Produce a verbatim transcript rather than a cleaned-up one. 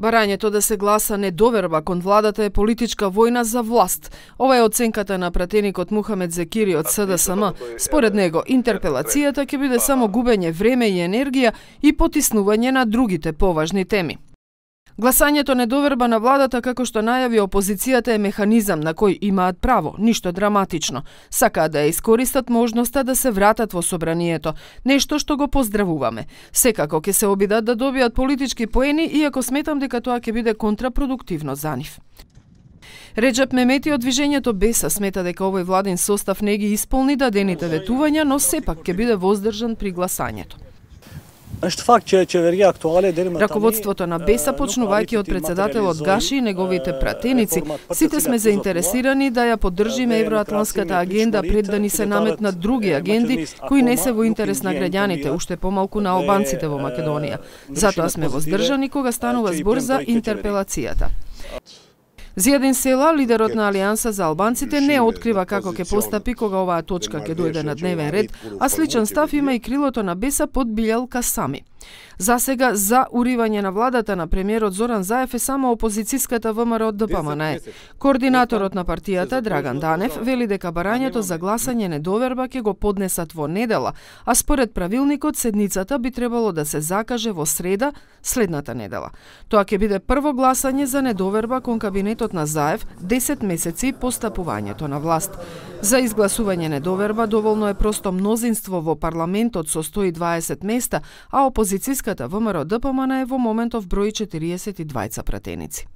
Барањето да се гласа недоверба кон владата е политичка војна за власт. Ова е оценката на пратеникот Мухамед Зекири од С Д С М. Според него, интерпелацијата ќе биде само губење време и енергија и потиснување на другите поважни теми. Гласањето недоверба на владата, како што најави опозицијата, е механизам на кој имаат право, ништо драматично. Сакаат да ја искористат можноста да се вратат во собранието, нешто што го поздравуваме. Секако ќе се обидат да добијат политички поени, иако сметам дека тоа ќе биде контрапродуктивно за нив. Реджеп Мемети од движењето Беса смета дека овој владин состав не ги исполни дадените ветувања, но сепак ќе биде воздржан при гласањето. Раководството на Беса, почнувајќи од председателот Гаши и неговите пратеници, сите сме заинтересирани да ја поддржиме евроатланската агенда пред да ни се наметнат други агенди кои не се во интерес на граѓаните, уште помалку на албанците во Македонија. Затоа сме воздржани кога станува збор за интерпелацијата. Зијадин Села, лидерот на Алијанса за албанците, не открива како ќе постапи кога оваа точка ќе дојде на дневен ред, а сличен став има и крилото на Беса под Билјал Касами. За сега, за уривање на владата на премиерот Зоран Заев е само опозицијската В М Р Д П М Н Е. Координаторот на партијата Драган Данев вели дека барањето за гласање недоверба ќе го поднесат во недела, а според правилникот седницата би требало да се закаже во среда следната недела. Тоа ќе биде прво гласање за недоверба кон кабинетот на Заев десет месеци по стапувањето на власт. За изгласување недоверба доволно е просто мнозинство во парламентот со сто и дваесет места, а опозицијската В М Р Д П М Н Е во моментов брои четириесет и двајца пратеници.